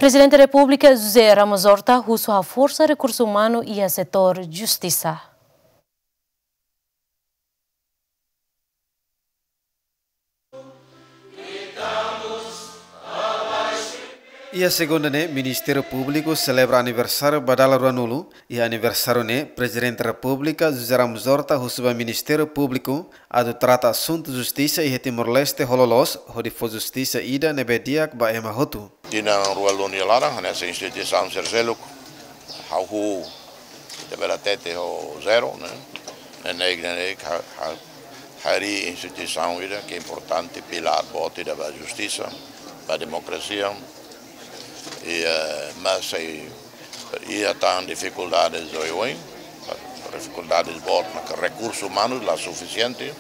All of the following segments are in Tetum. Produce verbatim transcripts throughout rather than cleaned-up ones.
Prezidente Repúblika José Ramos Horta husu haforsa rekursu umanu iha setór justisa. Iha segunda ne'e, Ministériu Públiku selebra aniversáriu ba dala ruanulu. Iha aniversáriu ne'e, Prezidente Repúblika José Ramos Horta husu ba Ministériu Públiku atu trata asuntu justisa iha Timor-Leste ho loloos, hodi fó justisa ida ne'ebé di'ak ba ema hotu. Tinan rua luni laran, hanesan instituisaun sira seluk, ha'u ita bele hatete ho zero, ne'e? Neineik, neineik, ha, ha, harii instituisaun ida ke importante, pilár boot ida ba justisa, ba demokrasia. I, eh, mas sei iha tan difikuldades oioin, difikuldades boot, mas rekursu umanu la sufisiente.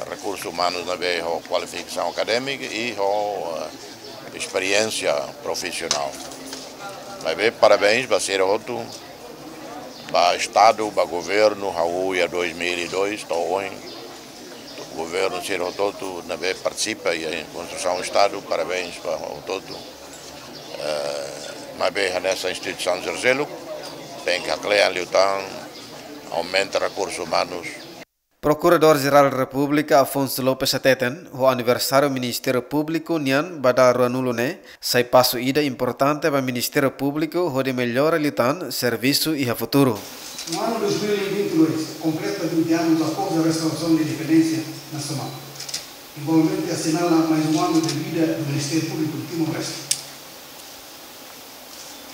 Rekursu umanu ne'ebé ho kualifikasaun akadémika i ho, eh, esperiénsia profisionál. Maibé parabéns ba sira hotu, ba Estadu, ba Governu, hahú iha dois mil e dois to'o ohin. Governu sira hotu-hotu ne'ebé partisipa iha konstrusaun Estadu, parabéns ba hotu-hotu. Eh, maibé hanesan instituisaun sira seluk, tenke haklean liután, aumenta rekursu umanus. Prokuradór-Jerál Repúblika Afonso Lopes hateten, ho aniversáriu Ministériu Públiku nian ba dala ruanulu ne'e, sai pasu ida importante ba Ministériu Públiku hodi mellora liután servisu iha futuru. No ano dois mil e vinte e dois, completa vinte anos após a restauração da independência nacional. Igualmente assinala mais um ano de vida do Ministério Público de Timor-Leste.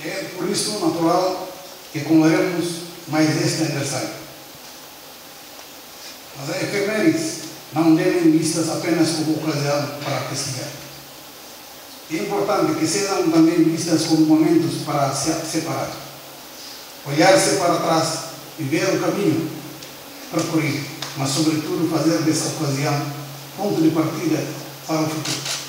É por isso natural que comemoremos mais este aniversário. Mas as efemérides não devem vistas apenas como ocasião para festejar. É importante que sejam também vistas como momentos para se separar, olhar-se para trás e ver o caminho percorrido, mas, sobretudo, fazer dessa ocasião ponto de partida para o futuro.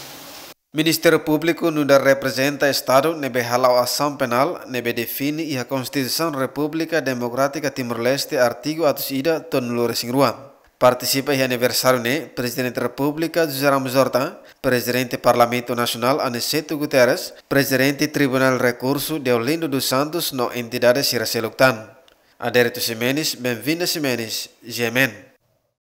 Ministériu Públiku nu'udar reprezenta Estadu ne'ebé hala'o asaun penál ne'ebé define iha Konstituisaun Repúblika Demokrátika Timor-Leste, artigu atus ida to'o sanulu-resin-rua. Partisipa iha aniversáriu ne'e Prezidente Repúblika José Ramos Horta, Prezidente Parlamentu Nasionál Aniceto Guterres, Prezidente Tribunál Rekursu Deolindo dos Santos no entidade sira seluk tan. Adérito Ximenes, Benvinda Ximenes, G M N.